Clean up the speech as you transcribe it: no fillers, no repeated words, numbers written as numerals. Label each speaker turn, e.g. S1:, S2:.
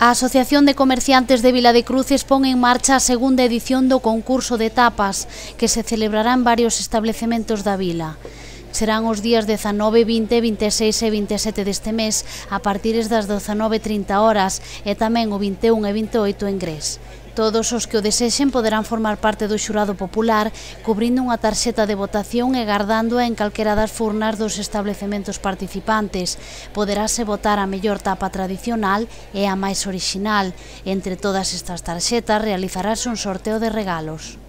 S1: A Asociación de Comerciantes de Vila de Cruces pon en marcha a segunda edición do concurso de tapas, que se celebrará en varios establecementos da vila. Serán os días 19, 20, 26 e 27 deste mes, a partir das 19:30 horas, e tamén o 21 e 28 en Gres. Todos os que o desexen poderán formar parte do xurado popular, cubrindo unha tarxeta de votación e gardándoa en calquera das furnas dos establecementos participantes. Poderase votar a mellor tapa tradicional e a máis orixinal. Entre todas estas tarxetas realizarase un sorteo de regalos.